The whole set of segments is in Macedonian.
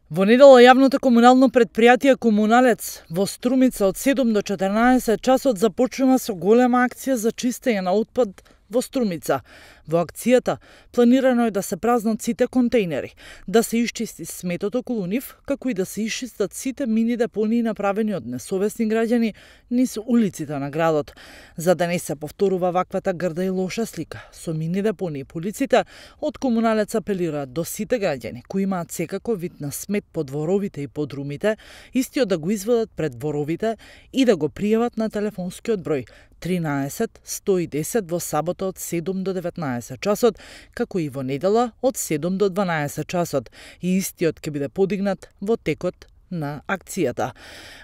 Во недела јавното комунално претпријатие Комуналец во Струмица од 7 до 14 часот започнува со голема акција за чистење на отпад во Струмица. Во акцијата планирано е да се празнат сите контејнери, да се исчисти сметот околу нив, како и да се исчистат сите мини депонии направени од несовесни граѓани низ улиците на градот. За да не се повторува ваквата грда и лоша слика со мини депонии по улиците, од Комуналец апелираат до сите граѓани кои имаат секако вид на смет по дворовите и подрумите, истиот да го извадат пред дворовите и да го пријават на телефонскиот број 13 110 во сабота од 7 до 19 часот, како и во недела од 7 до 12 часот, и истиот ќе биде подигнат во текот на акцијата.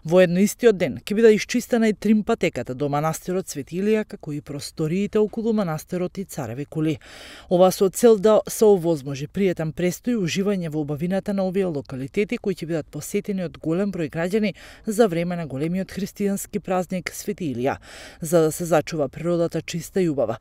Во едно истиот ден ќе биде исчистена и трим патеката до манастирот Свети Илија, како и просториите околу манастирот и Цареви кули. Ова со цел да се овозможи пријатен престој и уживање во убавината на овие локалитети кои ќе бидат посетени од голем број граѓани за време на големиот христијански празник Свети Илија, за да се зачува природата чиста и убава.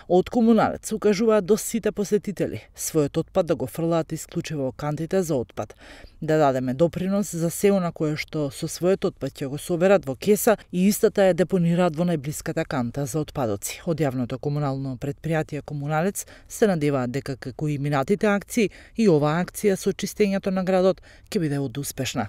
Од Комуналец укажуваат до сите посетители својот отпад да го фрлаат исклучиво во кантите за отпад, да дадеме допринос за се она кое што со својот отпад ќе го соберат во кеса и истата ја депонираат во најблиската канта за отпадоци. Од јавното комунално претпријатие Комуналец се надеваат дека како и минатите акции, и оваа акција со чистењето на градот ќе биде успешна.